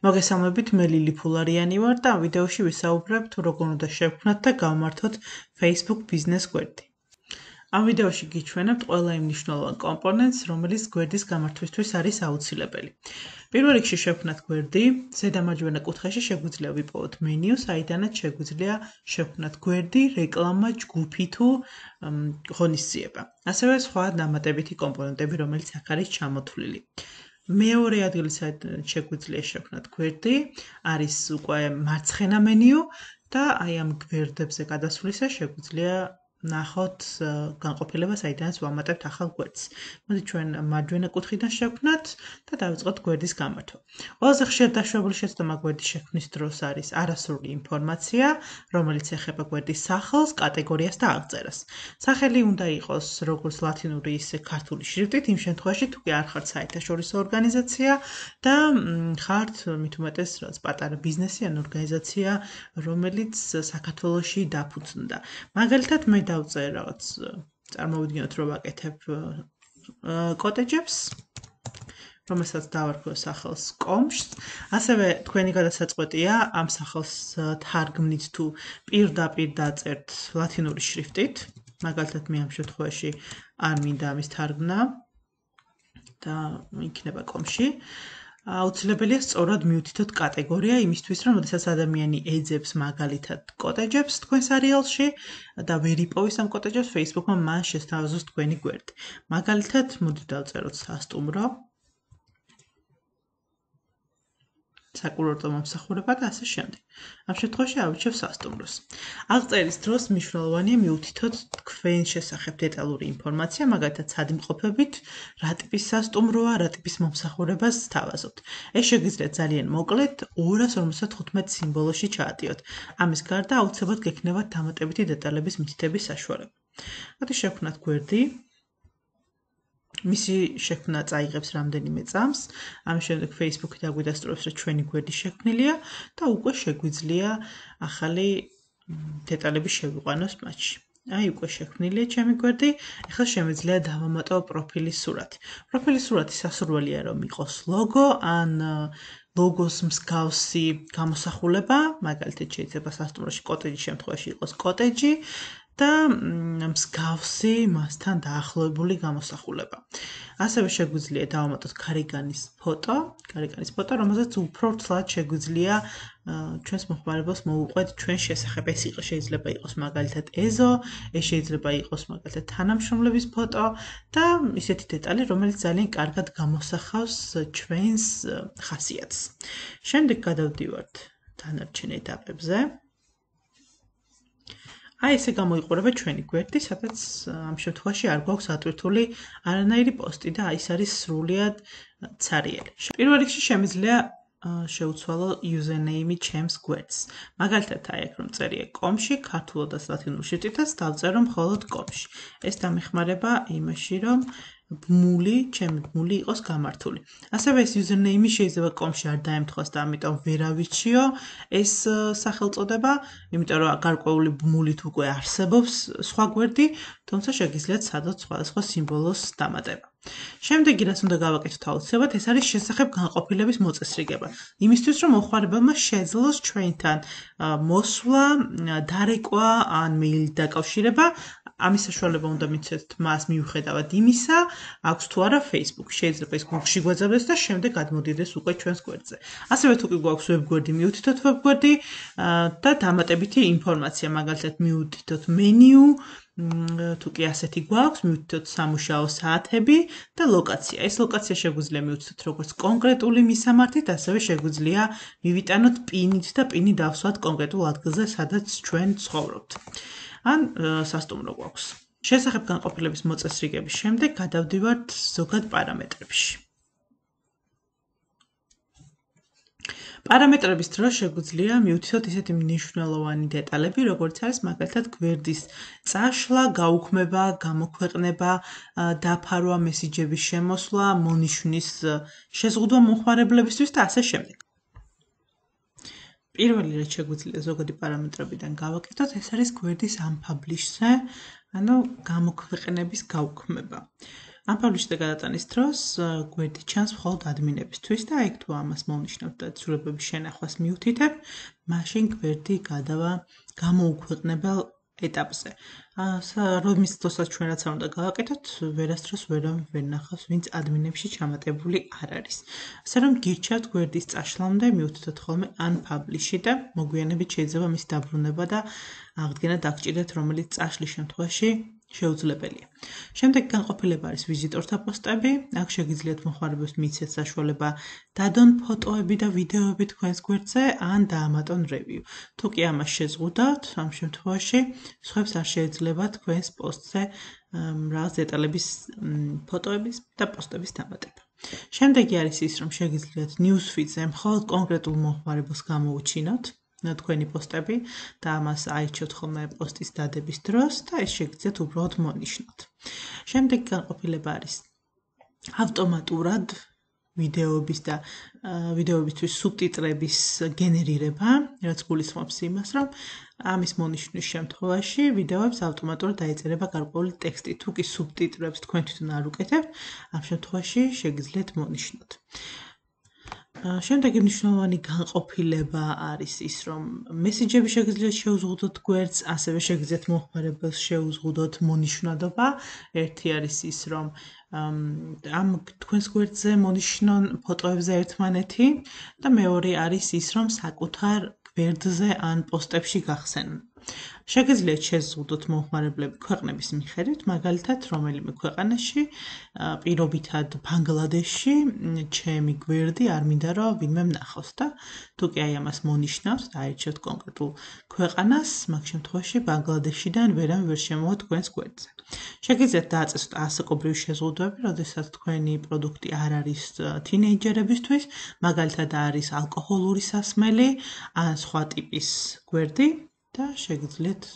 მოგესალმებით, მე ლილი ფულარიანი ვარ და ამ ვიდეოში ვისაუბრებ თუ როგორ უნდა შევქმნათ და გავმართოთ Facebook ბიზნეს გვერდი. ამ ვიდეოში გიჩვენებთ ყველა იმ მნიშვნელოვან კომპონენტს, რომელიც გვერდის გამართვისთვის არის აუცილებელი. პირველ რიგში შევქმნათ გვერდი, ზედა მარჯვენა კუთხეში შეგვიძლია ვიპოვოთ მენიუ, საიდანაც შეგვიძლია შევქმნათ გვერდი, რეკლამა, ჯგუფი თუ ღონისძიება. ასევე სხვა დამატებითი კომპონენტები, რომელიც აქ არის ჩამოთვლილი. მეორე ადგილი საიდანაც შეგვიძლია შევქმნათ გვერდი, არის უკვე მარცხენა მენიუ და აი ამ გვერდებზე გადასვლისას შეგვიძლია ნახოთ განყოფილება, საიდანაც ვამატებთ ახალ გვერდს. მოდით ჩვენ მარჯვენა კუთხიდან შევქმნათ და დავიწყოთ გვერდის გამართვა. ყველაზე ხშირად დაშვებული შეცდომა გვერდის შექმნის დროს არის არასრული ინფორმაცია, რომელიც ეხება გვერდის სახელს, კატეგორიას და აღწერას. სახელი უნდა იყოს როგორც ლათინური, ისე ქართული შრიფტით, იმ შემთხვევაში თუ კი არ ხართ საერთაშორისო ორგანიზაცია და ხართ მით უმეტეს რაღაც პატარა ბიზნესი ან ორგანიზაცია, რომელიც საქართველოში დაფუძნდა. მაგალითად მე დავწერ რაღაც წარმოვიდგინოთ რომ ვაკეთებ კოტეჯებს, რომელსაც დავარქვევ სახელს კომშს. ასევე თქვენი გადასაწყვეტია ამ სახელს თარგმნით თუ პირდაპირ დაწერთ ლათინური შრიფტით. მაგალითად მე ამ შემთხვევაში არ მინდა ამის თარგმნა და იქნება კომში. აუცილებელია სწორად მიუთითოთ კატეგორია იმისთვის, რომ შესაძლოა ადამიანი ეძებს მაგალითად კოტეჯებს თქვენ სერიალში და ვერ იპოვის ამ კოტეჯებს Facebook-მა, მან შესთავაზოს თქვენი გვერდი. მაგალითად, მოდით დავწეროთ სასტუმრო, საკურორტო მომსახურება და ასე შემდეგ. ამ შემთხვევაში ავირჩევ სასტუმროს. აღწერის დროს მნიშვნელოვანია მიუთითოთ თქვენ შესახებ დეტალური ინფორმაცია, მაგალითად სად იმყოფებით, რა ტიპის სასტუმროა, რა ტიპის მომსახურებას სთავაზობთ. ეს შეგიძლიათ ძალიან მოკლედ 255 სიმბოლოში ჩაატიოთ. ამის გარდა აუცილებლად გექნებათ დამატებითი დეტალების მითითების საშუალება. მოდით შევქმნათ გვერდი. მისი შექმნა წაიღებს რამდენიმე წამს. ამის შემდეგ Facebook-ი დაგვიდასტურებს, რომ ჩვენი გვერდი შექმნილია და უკვე შეგვიძლია ახალი დეტალები შევიყვანოს მათში. აი უკვე შექმნილია ჩემი გვერდი. ახლა შემიძლია დავამატო პროფილის სურათი. პროფილის სურათი სასურველია რომ იყოს ლოგო ან ლოგოს მსგავსი გამოსახულება, მაგალითად შეიძლება სასტუმროში კოტეჯის შემთხვევაში იყოს კოტეჯი და მსგავსი მასთან დაახლოებული გამოსახულება. ასევე შეგვიძლია დავამატოთ გარეგანის ფოტო, რომელზეც უფრო ცლად შეგვიძლია ჩვენს მოხმარებელს მოუყვეთ ჩვენ შესახებ. ეს შეიძლება იყოს მაგალითად ეზო, ეს შეიძლება იყოს მაგალითად თანამშრომლების ფოტო და ისეთი დეტალი, რომელიც ძალიან კარგად გამოსახავს ჩვენს ხასიათს. შემდეგ გადავდივართ დანარჩენ ეტაპებზე. აი ესე გამოიყურება ჩვენი გვერდი, სადაც ამ შემთხვევაში არ გვაქვს ატვირთული არანაირი პოსტი და ის არის სრულიად ცარიელი. პირველ რიგში შემიძლია შევცვალო username-ი ჩემს გვერდს. მაგალითად აი აქ რომ წერია კომში, ქართულად და ლათინურ შრიფტითაც დავწერო მხოლოდ კომში. ეს დამეხმარება იმაში, რომ ჩემი ბმული იყოს გამართული. ასევე ეს username-ი შეიძლება კომში არ დაემთხვას და ამიტომ ვერ ავირჩიო ეს სახელწოდება, იმიტომ რომ გარკვეული ბმულით უკვე არსებობს სხვა გვერდი, თუმცა შეგიძლიათ სადოთ სხვადასხვა სიმბოლოს დამატება. შემდეგი რაც უნდა გავაკეთოთ აუცილებლად, ეს არის შესახებ განყოფილების მოწესრიგება. იმისთვის რომ მოხმარებელმა შეძლოს ჩვენთან მოსვლა, დარეკვა ან მეილით დაკავშირება, ამის საშუალება უნდა მიცეთ მას მიუხედავად იმისა, აქვს თუ არა Facebook. შეიძლება ის Google-ში გვაძაბდეს და შემდეგ გადმოდიდეს უკვე ჩვენს გვერდზე. ასევე თუ კი გვაქვს ვებგვერდი, მიუთითოთ ვებგვერდი და დამატებითი ინფორმაცია, მაგალითად მიუთითოთ მენიუ, თუ კი ასეთი გვაქვს, მიუთითოთ სამუშაო საათები და ლოკაცია. ეს ლოკაცია შეგვიძლია მიუთითოთ როგორც კონკრეტული მისამართით, ასევე შეგვიძლია მივიტანოთ პინით და პინი დავსვათ კონკრეტულ ადგილზე, სადაც ჩვენ ცხოვრობთ. ან სასტუმრო გვაქვს. შესახებ განყოფილების მოწესრიგების შემდეგ გადავდივართ ზოგად პარამეტრებში. პარამეტრების დროს შეგვიძლია მიუთითოთ ისეთი მნიშვნელოვანი დეტალები, როგორც არის მაგალითად გვერდის წაშლა, გაუქმება, გამოქვეყნება, დაფარვა, მესიჯების შემოსვლა, მონიშნის შეზღუდვა მომხმარებლებისთვის და ასე შემდეგ. პირველი რაც შეგვიძლია ზოგადი პარამეტრებიდან გავაკეთოთ, ეს არის გვერდის unpublish-ზე, ანუ გამოქვეყნების გაუქმება. Unpublished გადატანის დროს გვერდი ჩანს მხოლოდ ადმინებისთვის და იქ თუ ამას მოვნიშნავთ და ცვლილებების შენახვას მიუთითებ, მაშინ გვერდი გადავა გამოუქვეყნებელ ეტაპზე. რომის დროსაც ჩვენ რაც არ უნდა გავაკეთოთ, ვერასდროს ვერ ნახავს, ვინც ადმინებში ჩამატებული არ არის. ასე რომ გირჩევთ გვერდის წაშლამდე მიუთითოთ ხოლმე unpublished და მოგვიანებით შეიძლება მის დაბრუნება და აღდგენა დაგჭირდეთ, რომელიც წაშლის შემთხვევაში შეუძლებელია. შემდეგ განყოფილება არის ვიზიტორთა პოსტები. აქ შეგიძლიათ მოხმარებელს მიიცეთ საშუალება დადონ ფოტოები და ვიდეოები თქვენს გვერდზე ან დაამატონ review. თუ კი ამას შეზღუდავთ, ამ შემთხვევაში სხვებს არ შეეძლება თქვენს პოსტზე რაღაც დეტალების ფოტოების და პოსტების დამატება. შემდეგი არის ის, რომ შეგიძლიათ newsfeed-ზე მხოლოდ კონკრეტულ მოხმარებელს გამოუჩინოთ თქვენი პოსტები და ამას აირჩიოთ ხოლმე პოსტის დადების დროს და ეს შეგიძლიათ უბრალოდ მონიშნოთ. შემდეგი განყოფილება არის ავტომატურად ვიდეოების და ვიდეოებისთვის სუბტიტრების გენერირება, რაც გულისხმობს იმას, რომ ამის მონიშნვის შემთხვევაში ვიდეოებს ავტომატურად დაეწერება გარკვეული ტექსტი. თუ კი სუბტიტრებს თქვენ თვითონ არ უკეთებთ, ამ შემთხვევაში შეგიძლიათ მონიშნოთ. შემდეგი მნიშვნელოვანი განყოფილება არის ის, რომ მესიჯები შეგიძლიათ შეუზღუდოთ გვერდს, ასევე შეგიძლიათ მოხმარებელს შეუზღუდოთ მონიშნვადობა. ერთი არის ის, რომ ამ თქვენს გვერდზე მონიშნონ ფოტოებზე ერთმანეთი და მეორე არის ის, რომ საკუთარ გვერდზე ან პოსტებში გახსენონ. შეგიძლიათ შეზღუდოთ მომხმარებლები ქვეყნების მიხედვით, მაგალითად, რომელიმე ქვეყანაში, პირობითად ბანგლადეშში, ჩემი გვერდი არ მინდა რომ ვინმე ნახოს და თუ კი აი ამას მონიშნავთ და აირჩევთ კონკრეტულ ქვეყანას, მაგ შემთხვევაში ბანგლადეშიდან ვერამ ვერ შემოვა თქვენს გვერდზე. შეგიძლიათ დააწესოთ ასაკობრივი შეზღუდვები, როდესაც თქვენი პროდუქტი არ არის თინეიჯერებისთვის, მაგალითად არის ალკოჰოლური სასმელი ან სხვა ტიპის გვერდი. და შეგიძლიათ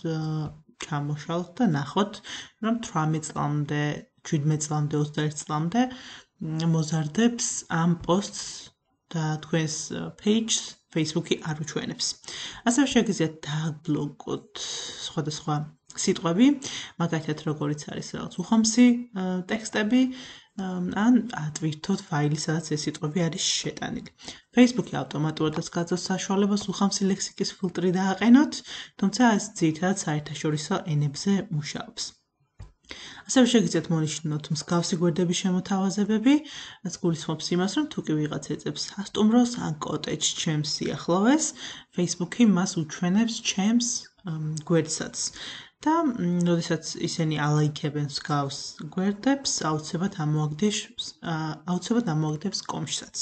ჩამოშალოთ და ნახოთ, რომ 18 წლამდე, 17 წლამდე, 21 წლამდე მოზარდებს ამ პოსტს და თქვენს page-ს Facebook-ი არ უჩვენებს. ასევე შეგიძლიათ დააბლოკოთ სხვადასხვა სიტყვები, მაგალითად, როგორიც არის რაღაც უხომსი ტექსტები, ან ატვირთოთ ფაილი, სადაც ეს სიტყვები არის შეტანილი. Facebook-ი ავტომატურადაც გაძლევს საშუალებას უხამსი ლექსიკის ფილტრი დააყენოთ, თუმცა ეს ძირითადად საერთაშორისო ენებზე მუშაობს. ასევე შეგიძლიათ მონიშნოთ მსგავსი გვერდების შემოთავაზებები, რაც გულისხმობს იმას, რომ თუ კი ვიღაც ეძებს სასტუმროს ან კოტეჯს ჩემს სიახლოვეს, Facebook-ი მას უჩვენებს ჩემს გვერდსაც. და როდესაც ისინი ალაიქებენ მსგავს გვერდებს, აუცილებლად ამოაგდებს კომშსაც.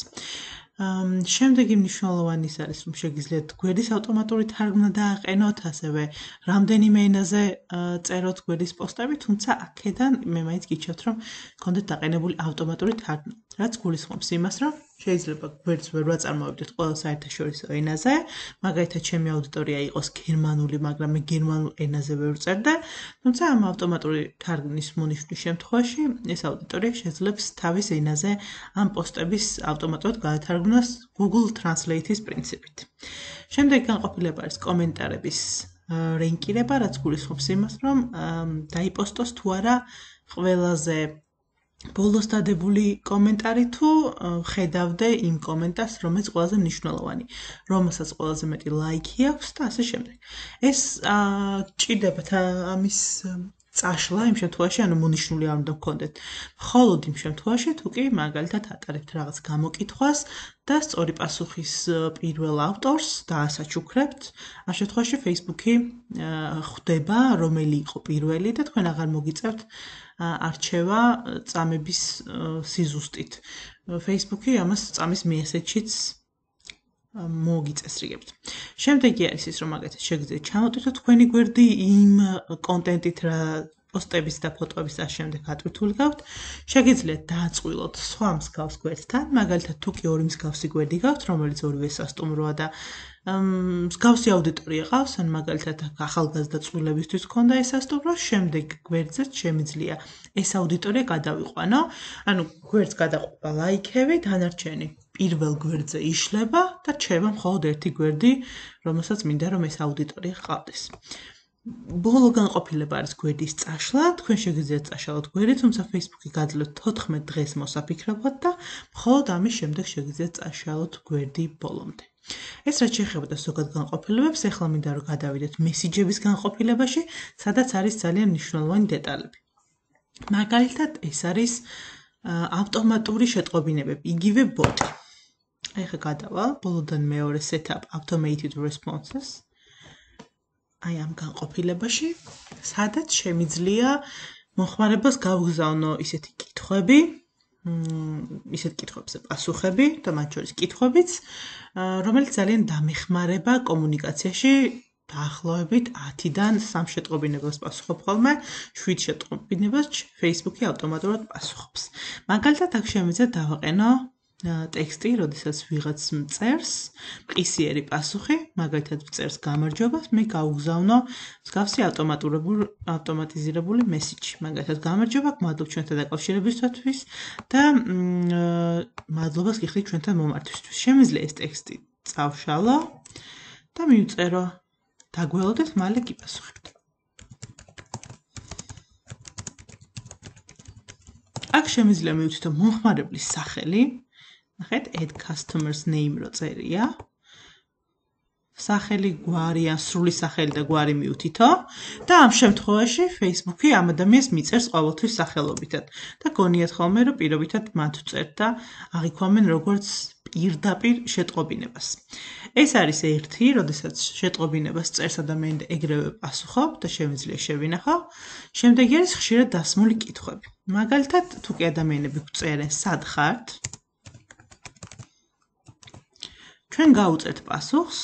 შემდეგი მნიშვნელოვანი ის არის, რომ შეგიძლიათ გვერდის ავტომატური თარგმნა დააყენოთ, ასევე რამდენიმე ენაზე წეროთ გვერდის პოსტები, თუმცა აქედან მე მაინც გიჩვენებთ, რომ გქონდეთ დაყენებული ავტომატური თარგმნა, რაც გულისხმობს იმას, რომ შეიძლება გვერდს ვერ ვაწარმოებდეთ ყველა საერთაშორისო ენაზე, მაგალითად ჩემი აუდიტორია იყოს გერმანული, მაგრამ მე გერმანულ ენაზე ვერ ვწერდე, თუმცა ამ ავტომატური თარგმნის მონიშნვის შემთხვევაში ეს აუდიტორია შეძლებს თავის ენაზე ამ პოსტების ავტომატურად გადათარგმნას Google Translate-ის პრინციპით. შემდეგ განყოფილება არის კომენტარების რენკირება, რაც გულისხმობს იმას, რომ დაიპოსტოს თუ არა ყველაზე ბოლოს დადებული კომენტარი თუ ხედავდე იმ კომენტარს, რომელიც ყველაზე მნიშვნელოვანი, რომელსაც ყველაზე მეტი ლაიქი აქვს და ასე შემდეგ. ეს ჭირდებათ ამის წაშლა იმ შემთხვევაში, ანუ მონიშნული არ უნდა გქონდეთ. მხოლოდ იმ შემთხვევაში, თუ კი მაგალითად ატარებთ რაღაც გამოკითხვას და სწორი პასუხის პირველ ავტორს დაასაჩუქრებთ, ამ შემთხვევაში Facebook-ი ხვდება, რომელი იყო პირველი და თქვენ აღარ მოგიწევთ არჩევა წამების სიზუსტით. Facebook-ი ამას წამის მიესეჩიც მოგიწესრიგებთ. შემდეგი არის ის, რომ მაგალითად შეგიძლიათ ჩამოტვირთოთ თქვენი გვერდი იმ კონტენტით, რა პოსტების და ფოტოების და შემდეგ ატვირთული გაქვთ. შეგიძლიათ დააწყვილოთ სხვა მსგავს გვერდთან, მაგალითად თუ კი ორი მსგავსი გვერდი გაქვთ, რომელიც ორივე სასტუმროა და მსგავსი აუდიტორია ყავს, ან მაგალითად ახალგაზრდა წყვილებისთვის ქონდა ეს სასტუმრო, შემდეგ გვერდზეც შემიძლია ეს აუდიტორია გადავიყვანო, ანუ გვერდს გადაყვება ლაიქები, დანარჩენი პირველ გვერდზე იშლება და რჩება მხოლოდ ერთი გვერდი, რომელსაც მინდა რომ ეს აუდიტორია ყავდეს. ბოლო განყოფილება არის გვერდის წაშლა, თქვენ შეგიძლიათ წაშალოთ გვერდი, თუმცა Facebook-ი გაძლევთ 14 დღეს მოსაფიქრებლად და მხოლოდ ამის შემდეგ შეგიძლიათ წაშალოთ გვერდი ბოლომდე. ეს რაც შეეხება ზოგად განყოფილებებს, ახლა მინდა რომ გადავიდეთ მესიჯების განყოფილებაში, სადაც არის ძალიან მნიშვნელოვანი დეტალები. მაგალითად, ეს არის ავტომატური შეტყობინებები, იგივე ბოტი. აი ხა გადავალ, ბოლოდან მეორე setup automated responses. აი ამ განყოფილებაში, სადაც შემიძლია მოხმარებას გავგზავნო ისეთი კითხვები, ისეთ კითხვებზე პასუხები და მათ შორის კითხვებიც, რომელიც ძალიან დამეხმარება კომუნიკაციაში დაახლოებით 10-დან 3 შეტყობინებას პასუხობ ხოლმე, 7 შეტყობინებას Facebook-ი ავტომატურად პასუხობს. მაგალითად, აქ შემიძლია დავაყენო ტექსტი, როდესაც ვიღაც მწერს, მყისიერი პასუხი, მაგალითად მწერს გამარჯობა, მე გავუგზავნო მსგავსი ავტომატიზირებული მესიჯი. მაგალითად, გამარჯობა, მადლობ ჩვენთან დაკავშირებისთვის და მადლობას გიხდით ჩვენთან მომართვისთვის. შემიძლია ეს ტექსტი წავშალო და მივწერო. დაგველოდეთ, მალე გიპასუხებთ. აქ შემიძლია მივთითო მომხმარებლის სახელი. ნახეთ, add customer's name რო წერია. სახელი, გვარი, ან სრული სახელი და გვარი მივთითო და ამ შემთხვევაში Facebook-ი ამ ადამიანს მიწერს ყოველთვის სახელობითად და გონიათ ხოლმე რომ პირობითად მათ წერთ და აღიქვამენ როგორც პირდაპირ შეტყობინებას. ეს არის ერთი, როდესაც შეტყობინებას წერს ადამიანი და ეგრევე პასუხობ და შემიძლია შევინახო. შემდეგი არის ხშირად დასმული კითხვები. მაგალითად, თუ კი ადამიანები გვწერენ სად ხართ, ჩვენ გავუწერთ პასუხს,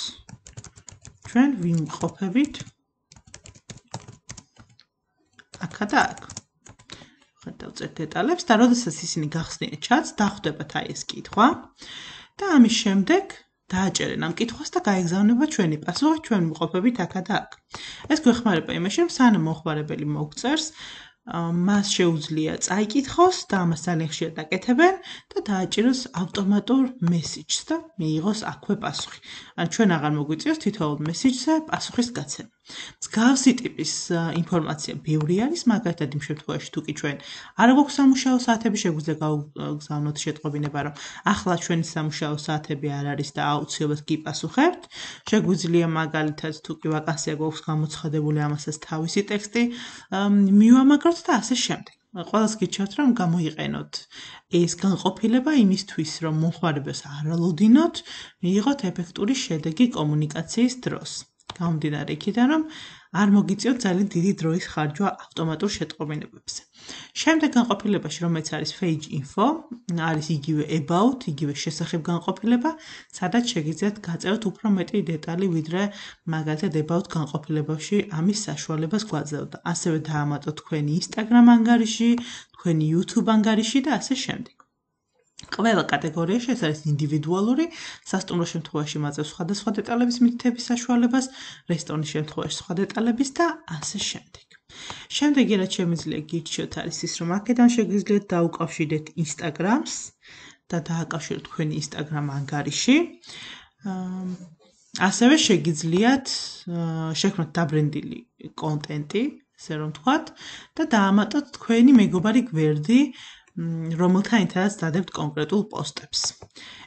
ჩვენ ვიმყოფებით აქა და აქ. ხა დავწერთ დეტალებს და როდესაც ისინი გახსნიან ჩატს, დახვდებათ აი ეს კითხვა და ამის შემდეგ დააჭერენ ამ კითხვას და გაეგზავნება ჩვენი პასუხი, ჩვენ ვიმყოფებით აქა და აქ. ეს გვეხმარება იმაში, რომ სანამ მომხმარებელი მოგწერს, მას შეუძლია წაიკითხოს და ამას ძალიან ხშირად აკეთებენ და დააჭიროს ავტომატურ მესიჯს და მიიღოს აქვე პასუხი. ან ჩვენ აღარ მოგვიწევს თითოეულ მესიჯზე პასუხის გაცემა. მსგავსი ტიპის ინფორმაცია ბევრი არის, მაგალითად იმ შემთხვევაში თუ კი ჩვენ არ გვაქვს სამუშაო საათები, შეგვიძლია გავგზავნოთ შეტყობინება, რომ ახლა ჩვენი სამუშაო საათები არ არის და აუცილებლად გიპასუხებთ. შეგვიძლია მაგალითად თუ კი ვაკანსია გვაქვს გამოცხადებული, ამასაც თავისი ტექსტი მივამაგროთ და ასე შემდეგ. ყველას გიჩვენებთ, რომ გამოიყენოთ ეს განყოფილება იმისთვის, რომ მომხმარებელს არ ელოდინოთ, მიიღოთ ეფექტური შედეგი კომუნიკაციის დროს. გამომდინარე იქიდან, რომ არ მოგიწევთ ძალიან დიდი დროის ხარჯვა ავტომატურ შეტყობინებებზე. შემდეგ განყოფილებაში, რომელიც არის page info, არის იგივე about, იგივე შესახებ განყოფილება, სადაც შეგიძლიათ გაწეროთ უფრო მეტი დეტალი, ვიდრე მაგალითად about განყოფილებაში ამის საშუალებას გვაძლევთ. ასევე დაამატოთ თქვენი Instagram ანგარიში, თქვენი YouTube ანგარიში და ასე შემდეგ. ყველა კატეგორიაში ეს არის ინდივიდუალური, სასტუმრო შემთხვევაში მაძლევს სხვადასხვა დეტალების მითითების საშუალებას, რესტორნის შემთხვევაში სხვა დეტალების და ასე შემდეგ. შემდეგი რაც შემიძლია გირჩიოთ არის ის, რომ აქედან შეგიძლიათ დაუკავშირდეთ Instagram-ს და დააკავშიროთ თქვენი Instagram ანგარიში. ასევე შეგიძლიათ შექმნათ დაბრენდილი კონტენტი, ესე რომ ვთქვათ, და დაამატოთ თქვენი მეგობარი გვერდი, რომელთანაც დადებთ კონკრეტულ პოსტებს.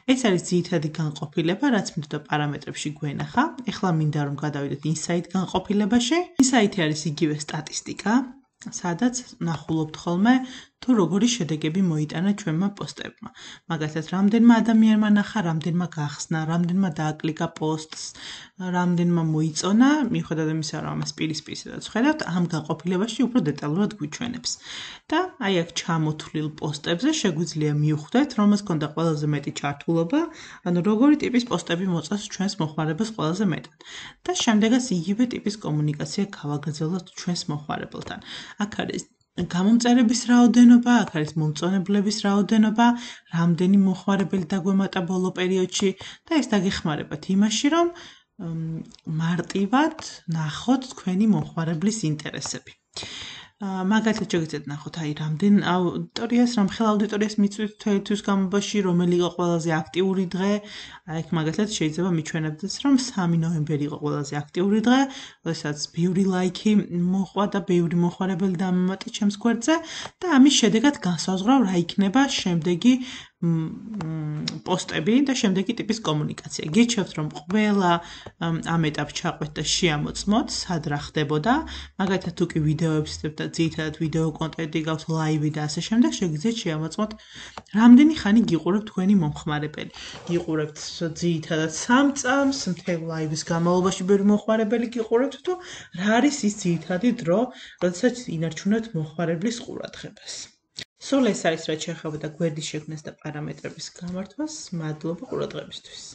ეს არის ძირითადი განყოფილება, რაც მინდოდა პარამეტრებში გვენახა. ეხლა მინდა რომ გადავიდეთ insight განყოფილებაში. insight არის იგივე სტატისტიკა, სადაც ნახულობთ ხოლმე თუ როგორი შედეგები მოიტანა ჩვენმა პოსტებმა. მაგალითად, რამდენმა ადამიანმა ნახა, რამდენმა გახსნა, რამდენმა დააკლიკა პოსტს, რამდენმა მოიწონა, მიუხედავად იმისა, რომ ამას პირისპირაც ხედავთ, ამ განყოფილებაში უფრო დეტალურად გვიჩვენებს. და აი აქ ჩამოთვლილ პოსტებზე შეგვიძლია მივხვდეთ, რომელს ქონდა ყველაზე მეტი ჩართულობა, ანუ როგორი ტიპის პოსტები მოწონს ჩვენს მომხმარებელს ყველაზე მეტად. და შემდეგაც იგივე ტიპის კომუნიკაცია გავაგრძელოთ ჩვენს მომხმარებელთან. აქ არის გამომწერების რაოდენობა, აქ არის მომწონებლების რაოდენობა, რამდენი მომხმარებელი დაგვემატა ბოლო პერიოდში და ეს დაგეხმარებათ იმაში, რომ მარტივად ნახოთ თქვენი მომხმარებლის ინტერესები. მაგალითად შეგიძლიათ ნახოთ აი რამდენ აუდიტორიას, რამხელა აუდიტორიას მიწვით თვეთვის განმავლობაში, რომელი იყო ყველაზე აქტიური დღე. აი მაგალითად შეიძლება მიჩვენებდეს, რომ 3 ნოემბერი იყო ყველაზე აქტიური დღე, როდესაც ბევრი ლაიქი მოყვა და ბევრი მოხარებელი დამემატა ჩემს გვერდზე და ამის შედეგად განსაზღვრავ რა იქნება შემდეგი პოსტები და შემდეგი ტიპის კომუნიკაცია. გირჩევთ რომ ყველა ამ ეტაპს ჩაყვეთ და შეამოწმოთ, სად რა ხდებოდა. მაგალითად თუ კი ვიდეოებს ვსწრებთ და ძირითადად ვიდეო კონტენტი გაქვთ, ლაივი და ასე შემდეგ, შეგიძლიათ შეამოწმოთ რამდენი ხანი გიყურებთ თქვენი მომხმარებელი. გიყურებთ ძირითადად 3 წამს, მთელ ლაივის განმავლობაში ბევრი მომხმარებელი გიყურებთ თუ რა არის ის ძირითადი დრო, როდესაც ინარჩუნებთ მომხმარებლის ყურადღებას. სულ ეს არის რაც შეეხებოდა გვერდის შექმნას და პარამეტრების გამართვას. მადლობა ყურადღებისთვის.